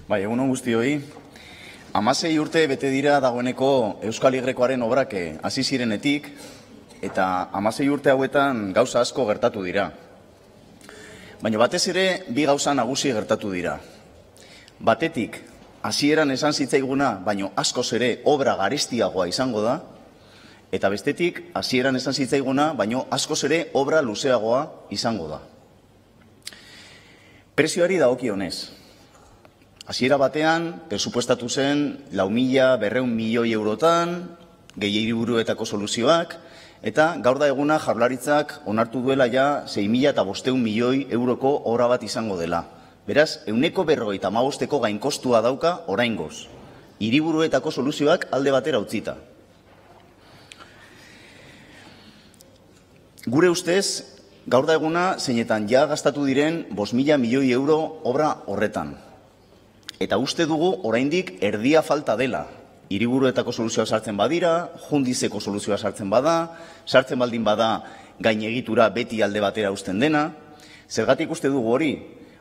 Bai, egunon guztioi. 16 urte bete dira dagoeneko Euskal Y-koaren obrak hasi zirenetik, eta 16 urte hauetan gauza asko gertatu dira. Baina batez ere, bi gauza nagusi gertatu dira. Batetik, hasieran esan zitzaiguna, baino askoz ere obra garestiagoa izango da, eta bestetik, hasieran esan zitzaiguna, baino askoz ere obra luzeagoa izango da. Prezioari dagokionez. Hasiera batean, presupuestatu zen 4.200.000 milioi eurotan, gehi hiriburuetako soluzioak, eta gaur da eguna Jaurlaritzak onartu duela ja 6.500 milioi euroko obra bat izango dela. Beraz, 155ko gainkostua dauka oraingoz. Hiriburuetako soluzioak alde batera utzita. Gure ustez, gaur da eguna zeinetan ja gastatu diren 5.000 milioi euro obra horretan. Eta uste dugu oraindik erdia falta dela. Hiriburuetako soluzioa sartzen badira, Jundizeko soluzioa sartzen bada, sartzen baldin bada gainegitura beti alde batera uzten dena. Zergatik uste dugu hori?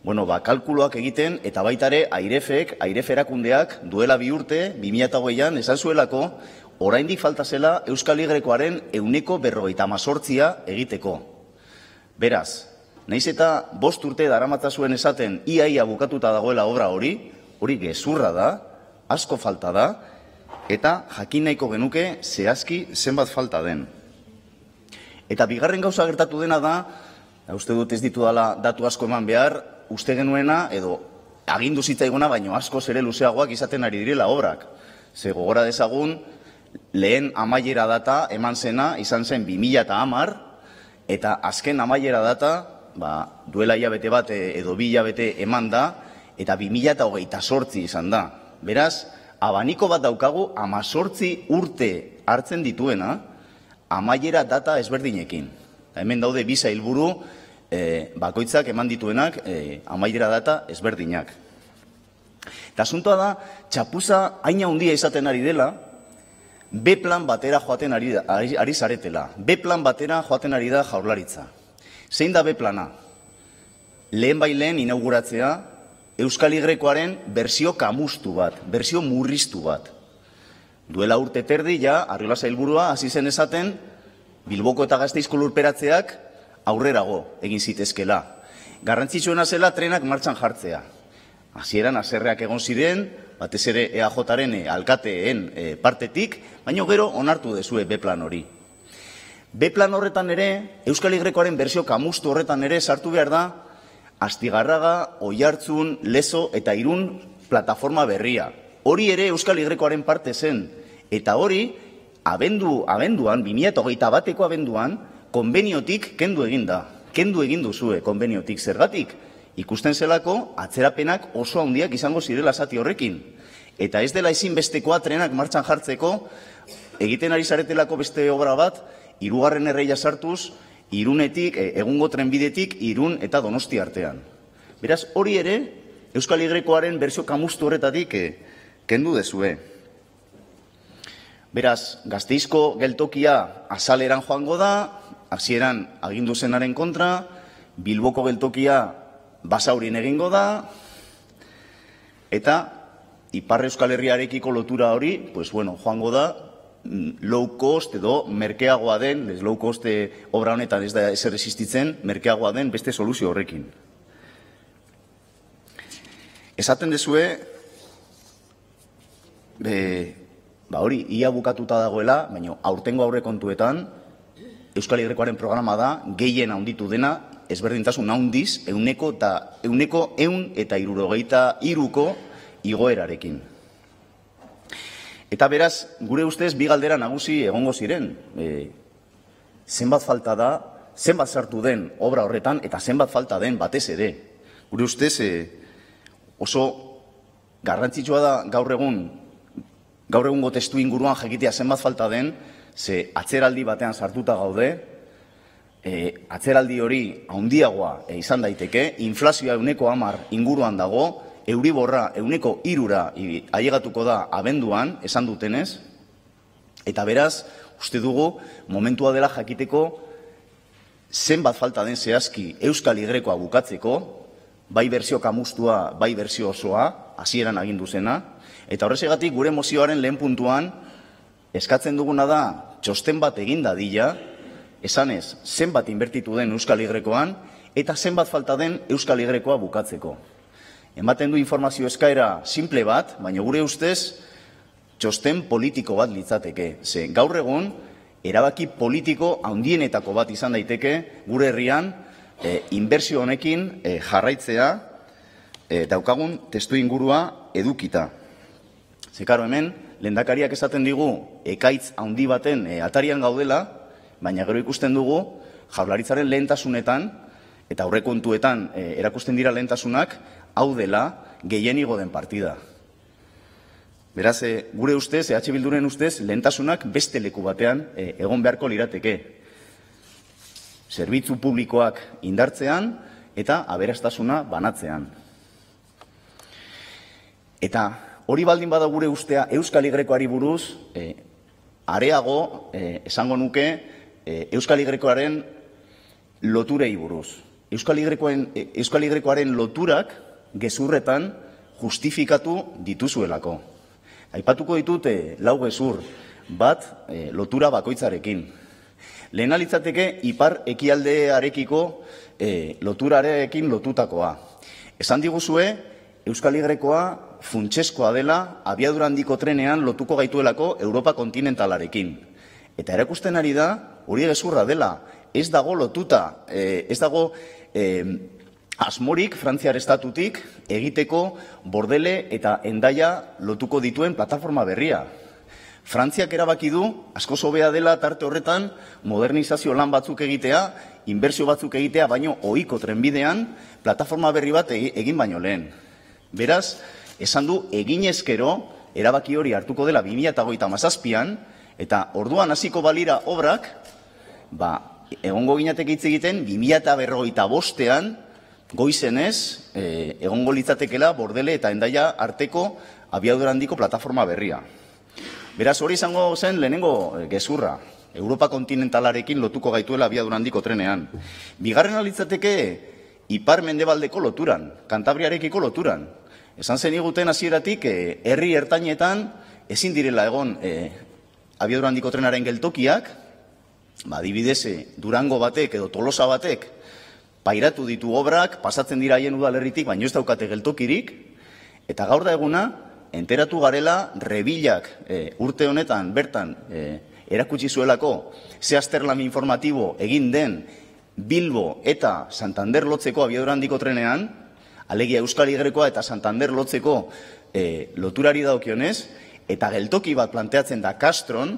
Bueno, kalkuloak egiten eta baita ere Airef erakundeak duela 2 urte, 2008an esan zuelako, oraindik falta zela Euskal Y-koaren 158 egiteko. Beraz, nahiz eta 5 urte daramatza zuen esaten ia bukatuta dagoela obra hori gezurra da, asko falta da, eta jakin nahiko genuke zehazki zenbat falta den. Eta bigarren gauza gertatu dena da, uste dut ez ditu dela datu asko eman behar, uste genuena, edo agindu zitzaiguna, baino askoz ere luzeagoak izaten ari direla obrak. Ze gogora dezagun, lehen amaiera data eman zena, izan zen 2010, eta azken amaiera data, duela hilabete bat edo 2 hilabete eman da, eta 2028 izan da. Beraz, abaniko bat daukagu 18 urte hartzen dituena, amaiera data ezberdinekin. Hemen daude 2 sailburu bakoitzak eman dituenak amaiera data ezberdinak. Eta asuntoa da, txapuza haina handia izaten ari dela, B-plan batera joaten ari zaretela. B-plan batera joaten ari da Jaurlaritza. Zein da B-plana? Lehen inauguratzea Euskal Y-koaren bersio kamustu bat, bersio murriztu bat. Duela urte terdi ja, Arriola sailburua hasi zen esaten, Bilboko eta Gasteizko lurperatzeak aurrerago egin zitezkela. Garrantzitsuena zela trenak martxan jartzea. Hasieran haserreak egon ziren, batez ere EAJaren alkateen partetik, baina gero onartu dezue B-plan hori. B-plan horretan ere, Euskal Y-koaren bersio kamustu horretan ere sartu behar da, Astigarraga, Oiartzun, Lezo eta Irun plataforma berria. Hori ere Euskal Y-koaren parte zen. Eta hori, abenduan, 2021ko abenduan, konbeniotik kendu egin da. Kendu egin duzue konbeniotik. Zergatik? Ikusten zelako, atzerapenak oso handiak izango zirela zati horrekin. Eta ez dela ezinbestekoa trenak martxan jartzeko, egiten ari zaretelako beste obra bat, 3. erreia sartuz, Irunetik, egungo trenbidetik, Irun eta Donosti artean. Beraz, hori ere, Euskal Y-koaren bersio kamustu horretatik kendu dezue. Beraz, Gasteizko geltokia azaleran joango da, hasieran agindu zenaren kontra, Bilboko geltokia Basaurin egingo da, eta Ipar Euskal Herriarekiko lotura hori, joango da, low cost edo merkeagoa den, low cost obra honetan ez da ezer existitzen, merkeagoa den beste soluzio horrekin. Esaten dezue, hori, ia bukatuta dagoela, baina aurtengo aurrekontuetan, Euskal Y-koaren programa da, gehien handitu dena, ezberdintasun handiz, 163ko igoerarekin. Eta beraz, gure ustez, bi galdera nagusi egongo ziren. Zenbat falta da, zenbat sartu den obra horretan, eta zenbat falta den batez ere. Gure ustez, oso garrantzitsua da gaur egungo testu inguruan jakitea zenbat falta den, ze atzeraldi batean sartuta gaude, atzeraldi hori handiagoa izan daiteke, inflazioa 110 inguruan dago, Euriborra 103 ailegatuko da abenduan, esan dutenez, eta beraz, uste dugu, momentua dela jakiteko zenbat falta den zehazki Euskal Y-koa bukatzeko, bai bersio kamustua, bai bersio osoa, hasieran agindu zena, eta horrezegatik gure mozioaren lehen puntuan eskatzen duguna da txosten bat egin dadila, esanez zenbat inbertitu den Euskal Y-koan eta zenbat falta den Euskal Y-koa bukatzeko. Ematen du informazio eskaera simple bat, baina gure ustez txosten politiko bat litzateke. Ze gaur egun erabaki politiko handienetako bat izan daiteke gure herrian inbertsio honekin jarraitzea daukagun testu ingurua edukita. Ze karo hemen, lehendakariak esaten digu ekaitz handi baten atarian gaudela, baina gero ikusten dugu Jaurlaritzaren lehentasunetan eta aurrekontuetan erakusten dira lehentasunak hau dela gehienigo den partida. Beraz, gure ustez, EH Bilduren ustez, lehentasunak beste leku batean egon beharko lirateke. Zerbitzu publikoak indartzean eta aberastasuna banatzean. Eta hori baldin bada gure ustea Euskal Y-koari buruz, areago esango nuke Euskal Y-koaren loturei buruz. Euskal Y-koaren loturak gezurretan justifikatu dituzuelako. Aipatuko ditute lau gezur, bat lotura bakoitzarekin. Lehena litzateke ipar ekialdearekiko loturarekin lotutakoa. Esan diguzue Euskal Y-koa funtseskoa dela abiadura handiko trenean lotuko gaituelako Europa kontinentalarekin. Eta erakusten ari da hori gezurra dela. Ez dago lotuta, ez dago asmorik Frantziar estatutik egiteko Bordele eta Hendaia lotuko dituen plataforma berria. Frantziak erabaki du, askoz hobea dela tarte horretan, modernizazio lan batzuk egitea, inbertsio batzuk egitea, baino ohiko trenbidean, plataforma berri bat egin baino lehen. Beraz, esan du eginezkero, erabaki hori hartuko dela 2037an, eta orduan hasiko balira obrak, egongo ginatek hitz egiten 2045an, goizenez, egongo litzatekela Bordele eta Hendaia arteko abiadura handiko plataforma berria. Beraz, hori izango zen lehenengo gezurra, Europa kontinentalarekin lotuko gaituela abiadura handiko trenean. Bigarrena litzateke ipar mendebaldeko loturan, Kantabriarekiko loturan. Esan zen iguten hasieratik herri ertainetan ezin direla egon abiadura handiko trenaren geltokiak, adibidez Durango batek edo Tolosa batek pairatu ditu obrak, pasatzen dira haien udalerritik, baino ez daukate geltokirik, eta gaur da eguna, enteratu garela Rebilak urte honetan bertan erakutsi zuelako ze azterlan informatibo egin den Bilbo eta Santander lotzeko abiadura handiko trenean, alegia Euskal Y-koa eta Santander lotzeko loturari daukionez, eta geltoki bat planteatzen da Castron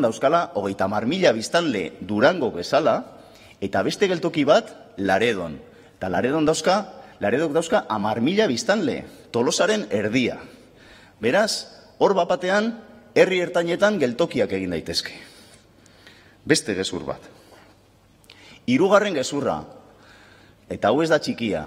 dauzkala 30.000 biztanle Durango bezala, eta beste geltoki bat Laredon. Eta Laredok dauzka 10.000 biztanle, Tolosaren erdia. Beraz, hor bapatean, herri ertainetan geltokiak egin daitezke. Beste gezur bat. Hirugarren gezurra, eta hau ez da txikia,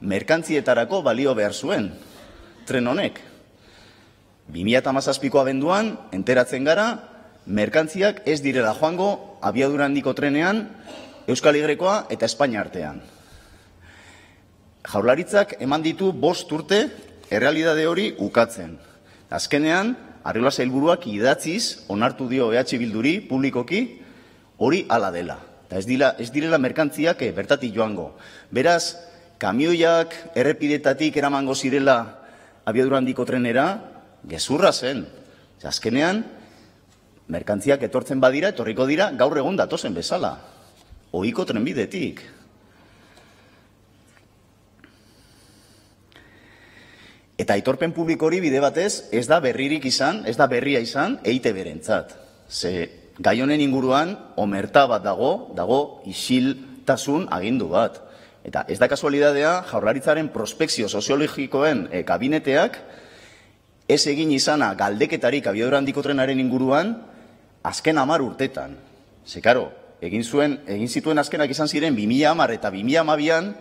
merkantzietarako balio behar zuen, tren honek. 2017ko abenduan, enteratzen gara, merkantziak ez direla joango abiadura handiko trenean Euskal Y-koa eta Espainia artean. Jaurlaritzak eman ditu 5 urte errealitate hori ukatzen. Azkenean, Arriola sailburuak idatziz onartu dio EH Bilduri publikoki hori hala dela. Eta ez direla merkantziak bertatik joango. Beraz, kamioiak errepidetatik eramango zirela abiadura handiko trenera, gezurra zen. Azkenean, merkantziak etortzen badira, etorriko dira, gaur egun datozen bezala. Ohiko trenbidetik. Eta aitorpen publiko hori bide batez, ez da berririk izan, ez da berria izan, EITB-rentzat. Ze gai honen inguruan, omerta bat dago isiltasun agindu bat. Eta ez da kasualidadea, Jaurlaritzaren prospekzio soziologikoen kabineteak, ez egin izana galdeketarik abiadura handiko trenaren inguruan, azken 10 urtetan. Ze, karo, egin zituen azkenak izan ziren 2010 eta 2012an,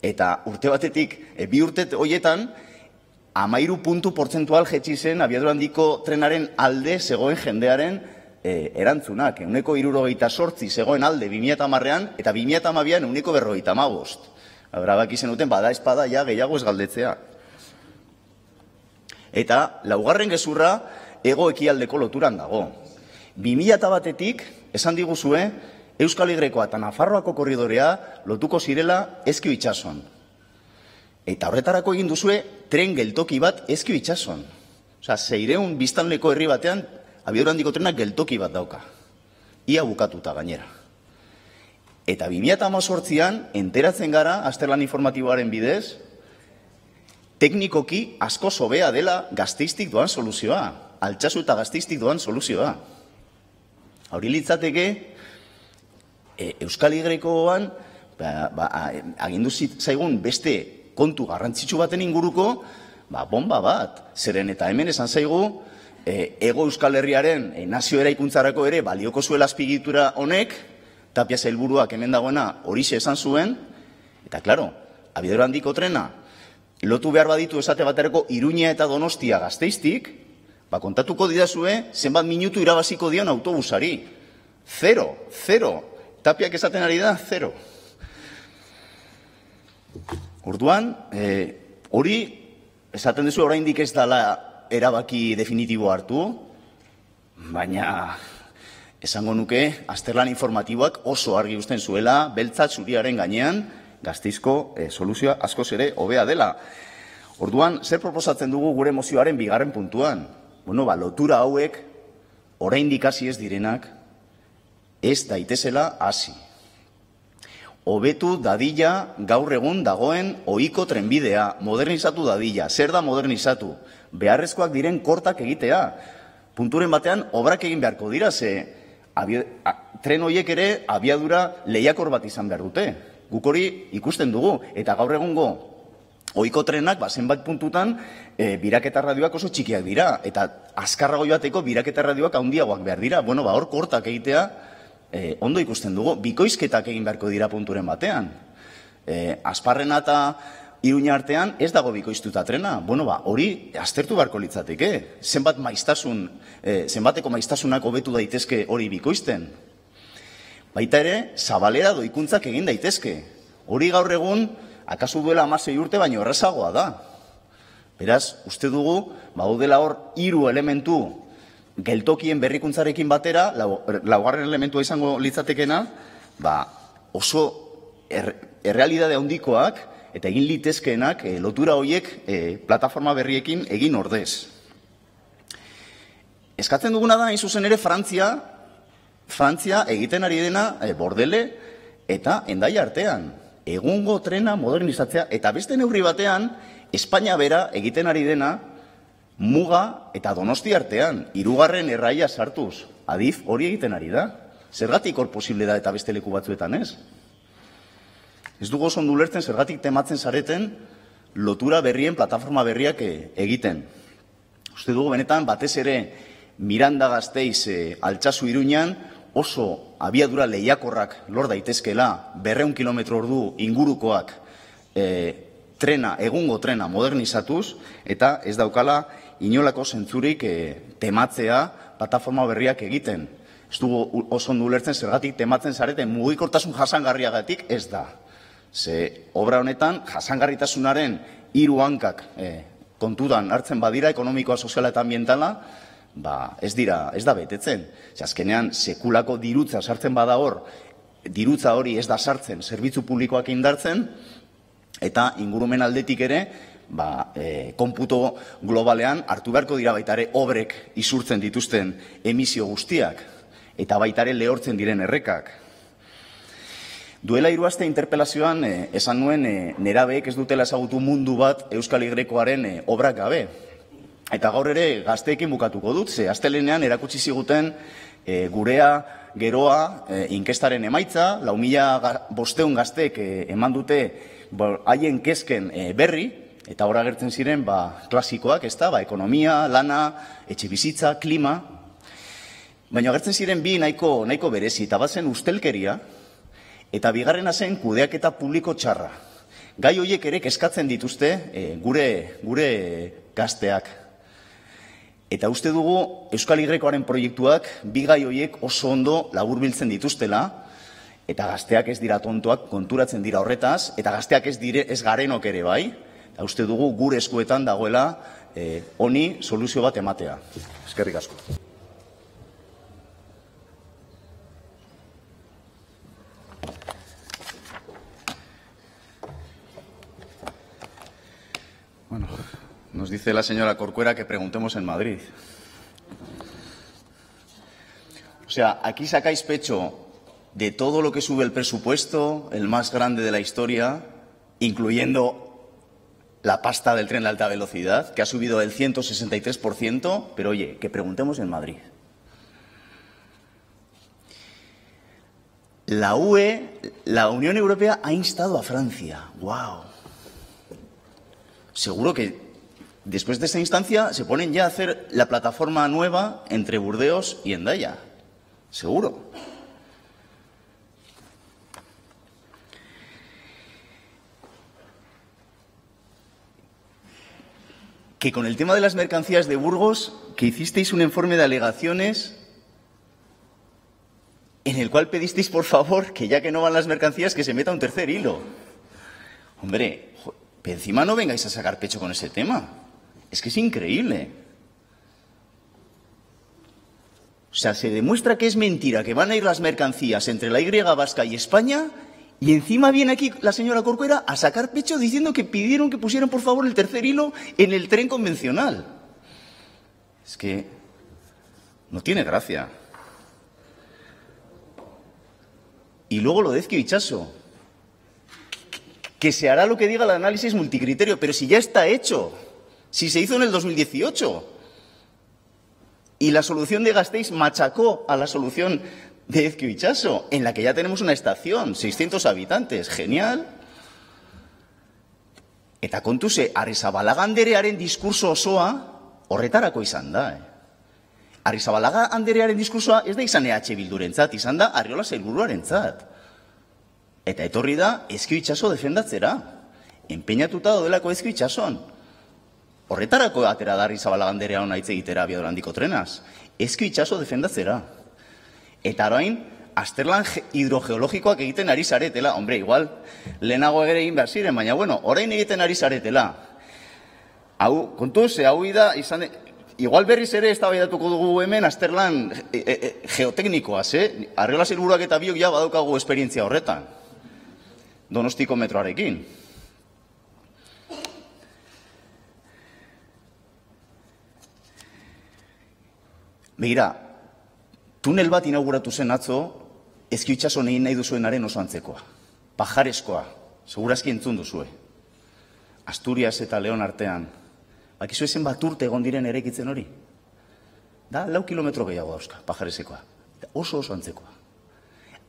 eta urte batetik, 2 urte horietan, 13 puntu portzentual jetxi zen abiadura handiko trenaren alde zegoen jendearen erantzunak. 78 zegoen alde 2010an, eta 2012an 145. Brabak izen duten, bada espada, ja gehiago ez galdetzea. Eta laugarren gezurra hego ekialdeko loturan dago. 2001-etik esan diguzue Euskal Igrekoa eta Nafarroako korridorea lotuko zirela Ezkio itsason. Eta horretarako egin duzue tren geltoki bat Ezkio itsason. Osea, 600 biztanleko herri batean abiadura handiko trenak geltoki bat dauka. Ia bukatuta gainera. Eta 2018an enteratzen gara, azterlan informatiboaren bidez, teknikoki asko hobea dela Gasteiztik doan soluzioa. Altsasu eta Gasteiztik doan soluzioa. Hori litzateke, Euskal Igrekoan agindu zaigun beste kontu garrantzitsu baten inguruko, bomba bat. Zeren eta hemen esan zaigu, Ego Euskal Herriaren nazio eraikuntzarako ere balioko zuela azpiegitura honek, Tapia sailburuak hemen dagoena horixe esan zuen, eta klaro, abiadura handiko trena, lotu behar baditu esate baterako Iruña eta Donostia Gasteiztik, kontatuko didazue zenbat minutu irabaziko dion autobusari. 0. Tapiak esaten ari da, 0. Orduan, hori esaten duzu oraindik ez dela erabaki definitibo hartu, baina esango nuke azterlan informatiboak oso argi uzten zuela, beltzat zuriaren gainean, Gasteizko soluzioa askoz ere hobea dela. Orduan, zer proposatzen dugu gure mozioaren bigarren puntuan? Lotura hauek, oraindik hasi ez direnak, ez daitezela hasi. Hobetu dadila gaur egun dagoen ohiko trenbidea, modernizatu dadila. Zer da modernizatu? Beharrezkoak diren kortak egitea. Punturen batean, obrak egin beharko dira, ze tren horiek ere abiadura lehiakor bat izan behar dute. Guk hori ikusten dugu, eta gaur egungo ohiko trenak, zenbait puntutan, biraketa radioak oso txikiak dira, eta azkarrago joateko biraketa radioak handiagoak behar dira. Hor kortak egitea ondo ikusten dugu, bikoizketak egin beharko dira punturen batean. Asparrena eta Iruña artean ez dago bikoiztuta trena. Hori aztertu beharko litzateke. Zenbateko maiztasunak hobetu daitezke hori bikoizten. Baita ere, zabalera doikuntzak egin daitezke. Hori gaur egun, akaso duela 16 urte baino errazagoa da. Beraz, uste dugu, daudela hor 3 elementu geltokien berrikuntzarekin batera, laugarren elementua izango litzatekena, oso errealidade handikoak eta egin litezkeenak lotura horiek plataforma berriekin egin ordez. Eskatzen duguna da, hain zuzen ere, Frantzia egiten ari dena Bordele eta Hendaia artean. Egungo trena modernizatzea, eta beste neurri batean, Espainia bera egiten ari dena Muga eta Donosti artean, 3. erraia sartuz. Adif hori egiten ari da. Zergatik hor posible da eta beste leku batzuetan ez? Ez dugu oso ondo ulertzen zergatik tematzen zareten lotura berrien, plataforma berriak egiten. Uste dugu benetan batez ere Miranda Gasteiz Altsasu Iruñan oso abiadura lehiakorrak lor daitezkela 200 km/h ingurukoak egungo trena modernizatuz, eta ez daukala inolako zentzurik tematzea plataforma berriak egiten. Ez dugu oso ondo ulertzen zergatik tematzen zareten mugikortasun jasangarriagatik ez da. Ze obra honetan jasangarritasunaren 3 hankak kontutan hartzen badira, ekonomikoa, soziala eta ambientala, ez da betetzen. Azkenean, sekulako dirutza sartzen bada hor, dirutza hori ez da sartzen, zerbitzu publikoak indartzen, eta ingurumen aldetik ere, konputo globalean hartu beharko dira baitare obrek isurtzen dituzten emisio guztiak, eta baitare lehortzen diren errekak. Duela 3 aste interpelazioan esan nuen nerabeek ez dutela ezagutu mundu bat Euskal Igrekoaren obrak gabe. Eta gaur ere gazteekin bukatuko dut, ze astelenean erakutsi ziguten gurea, geroa, inkestaren emaitza, 4.500 gazteek eman dute haien kezken berri, eta hor agertzen ziren klasikoak, ez da, ekonomia, lana, etxe bizitza, klima, baina agertzen ziren bi nahiko berezi, eta bazen ustelkeria, eta bigarrena zen kudeaketa publiko txarra. Gai horiek ere kezkatzen dituzte gure gazteak. Eta uste dugu Euskal Igrekoaren proiektuak bi gai horiek oso ondo laburbiltzen dituztela, eta gazteak ez dira tontoak, konturatzen dira horretaz, eta gazteak ez garenok ere bai, eta uste dugu gure eskuetan dagoela honi soluzio bat ematea. Eskerrik asko. Bueno, nos dice la señora Corcuera que preguntemos en Madrid. O sea, aquí sacáis pecho de todo lo que sube el presupuesto, el más grande de la historia, incluyendo la pasta del tren de alta velocidad, que ha subido el 163%, pero oye, que preguntemos en Madrid. La UE, la Unión Europea, ha instado a Francia. ¡Guau! Seguro que después de esta instancia se ponen ya a hacer la plataforma nueva entre Burdeos y Hendaya. Seguro. Que con el tema de las mercancías de Burgos, que hicisteis un informe de alegaciones en el cual pedisteis, por favor, que ya que no van las mercancías, que se meta un tercer hilo. Hombre, encima no vengáis a sacar pecho con ese tema. Es que es increíble. O sea, se demuestra que es mentira, que van a ir las mercancías entre la Y vasca y España, y encima viene aquí la señora Corcuera a sacar pecho diciendo que pidieron que pusieran, por favor, el tercer hilo en el tren convencional. Es que no tiene gracia. Y luego lo de Ezkio Itxaso, que se hará lo que diga el análisis multicriterio, pero si ya está hecho, si se hizo en el 2018. Y la solución de Gasteiz machacó a la solución de Ezkio Itxaso, en la que ya tenemos una estación, 600 habitantes, genial. Eta kontuse, Arrizabalaga anderearen diskurso osoa horretarako izan da. Arrizabalaga anderearen diskursoa ez da izan EH Bildurentzat, izan da Arriola sailburuarentzat. Eta etorri da Ezkio Itxaso defendatzera. Enpeinatuta daudelako Ezkio Itxason. Horretarako atera da Arrizabalaga anderea hona hitz egitera abiadura handiko trenaz. Ezkio Itxaso defendatzera. Eta orain, azterlan hidrogeologikoak egiten ari zaretela. Hombre, igual, lehenago ere egin behar ziren, baina bueno, orain egiten ari zaretela. Hau, kontuz, hau da, izan... Igual berriz ere eztabaidatuko dugu hemen azterlan geoteknikoaz, Arriola sailburuak eta biok ja badaukagu esperientzia horretan. Donostiko metroarekin. Begira, tunel bat inauguratu zen atzo, Ezkio Itxaso nahi duzuenaren oso antzekoa. Pajareskoa, segurazki entzun duzue. Asturias eta Leon artean. Bakizu ezen bat urte egon diren eraikitzen hori. Da, 4 kilometro gehiago dauzka, pajaresekoa. Oso antzekoa.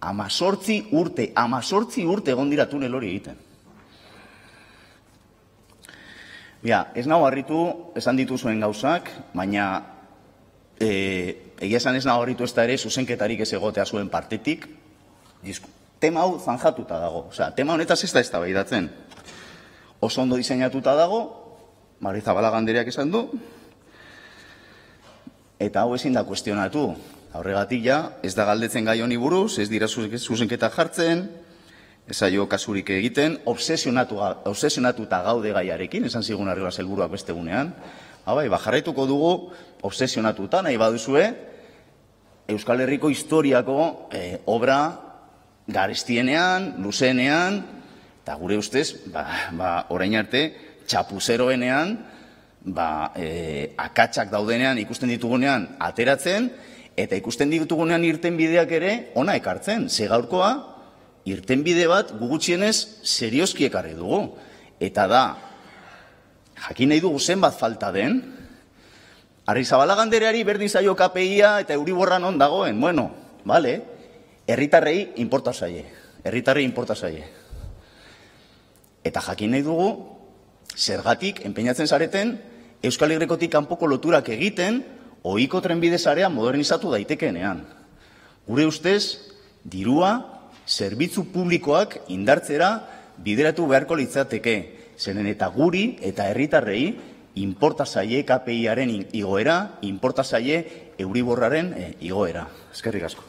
18 urte egon dira tunel hori egiten. Bia, ez nago harritu, esan dituzuen gauzak, baina egia esan ez nago harritu ez da ere zuzenketarik ez egotea zuen partetik. Tema hau zanjatuta dago. Osea, tema honetaz ez da eztabaidatzen. Oso ondo diseinatuta dago, Arrizabalaga andereak esan du, eta hau ezin da kuestionatu. Horregatik ja, ez da galdetzen gai honi buruz, ez dira zuzenketa jartzen, ez aio kasurik egiten, obsesionatuta gaude gaiarekin, esan zigun Arriola sailburuak beste gunean. Jarraituko dugu, obsesionatuta nahi baduzue, Euskal Herriko historiako obra garestienean, luzeenean, eta gure ustez, orain arte, txapuzeroenean, akatsak daudenean ikusten ditugunean ateratzen, eta ikusten ditugunean irtenbideak ere ona ekartzen. Ze gaurkoa, irtenbide bat gugutxienez serioski ekarri dugu. Eta da, jakin nahi dugu zenbat falta den, Arrizabalaga andereari berdin zaio KPIa eta Euriborra non dagoen. Bueno, bale, herritarrei inporta zaie. Eta jakin nahi dugu, zergatik, enpeinatzen zareten, Euskal Herrikotik kanpoko loturak egiten, ohiko trenbide sarea modernizatu daitekeenean. Gure ustez, dirua, zerbitzu publikoak indartzera bideratu beharko litzateke. Zeren eta guri eta herritarrei, inporta zaie KPIaren igoera, inporta zaie Euriborraren igoera. Eskerrik asko.